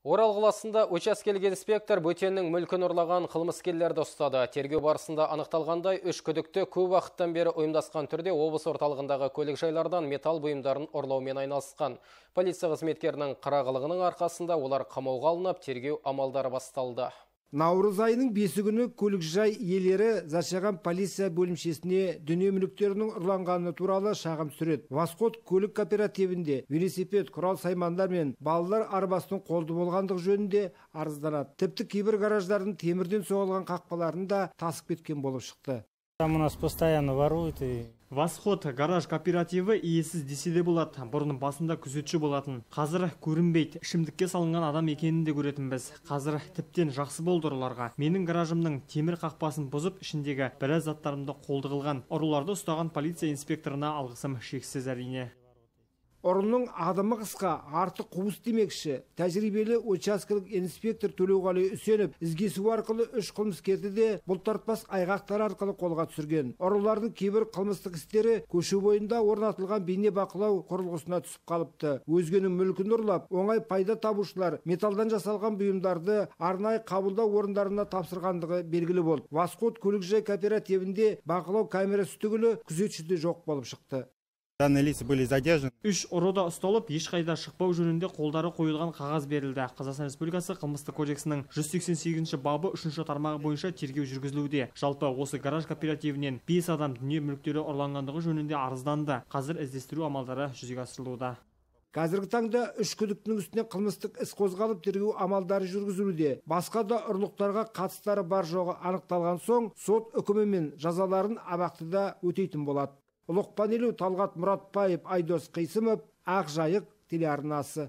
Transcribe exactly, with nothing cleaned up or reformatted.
Орал қаласында учаскелік инспектор бөтеннің мүлкін ұрлаған қылмыскерлерді ұстады. Тергеу барысында анықталғандай, үш күдікті көп уақыттан бері ұйымдасқан түрде облыс орталығындағы көлік жайлардан металл бұйымдарын ұрлаумен айналысқан. Полиция қызметкерінің қырағылығының арқасында олар қамауға алынып, тергеу амалдары басталды. Наурыз айының бесі күні көлікжай иелері зашаған полиция бөлімшесіне дүние мүліктерінің ұрланғаны туралы шағым түсіреді. Восход көлік кооперативінде велосипед, құрал саймандар мен балалар арбасының қолды болғандығы жөнінде арызданады. Тіпті кейбір гараждардың темірден соғылған қақпаларын да тасып кеткен болып шықты. Там у нас постоянно воруют и... Восход гараж кооперативі иесіз десе де болады. Бұрын басында күзетші болатын. Қазір көрінбейді. Ішімдікке салынған адам екенін де көретінбіз. Қазір тіптен жақсы болды ұрыларға. Менің гаражымның темір қақпасын бұзып, ішіндегі біраз заттарымды қолды қылған. Ұрыларды ұстаған полиция инспекторына алғысым шексіз әрине. Ұрының адымы қысқа, артық қуыс демекші. Тәжірибелі учаскелік инспектор Төлеуғали Үсенов ізгесу арқылы үш қылмыскерді де бұлтартпас айғақтар арқылы қолға түсірген. Ұрылардың кейбір қылмыстық істері көше бойында орнатылған бейне бақылау құрылғысына түсіп қалыпты. Өзгенің мүлкін ұрлап, оңай пайда табушылар металдан жасалған бұйымдарды арнайы қабылдау орындарына тапсырғандығы белгілі болды. Восход көлікжай кооперативінде бақылау камерасы түгілі күзетші де жоқ болып шықты. Үш ұры да ұсталып, ешқайда шықпау жөнінде қолдары қойылған қағаз берілді. Қазақстан Республикасы қылмыстық кодексінің жүз сексен сегізінші бабы үшінші тармағы бойынша тергеу жүргізілуде. Жалпы осы гараж кооперативінен бес адам дүние мүліктері ұрланғандығы жөнінде арызданды. Қазір іздестіру амалдары жүзеге асырылуда. Қазіргі таңда үш күдіктінің үстінен қылмыстық іс қозғалып тергеу амалдары жүргізілуде. Басқа да ұрлықтарға қатыстары бар жоғы анықталған соң, сот үкімімен жазаларын абақтыда өтейтін болады. Ұлықпан елу Талғат Мұратбаев, Айдос Қисымов, Ақ Жайық телеарнасы.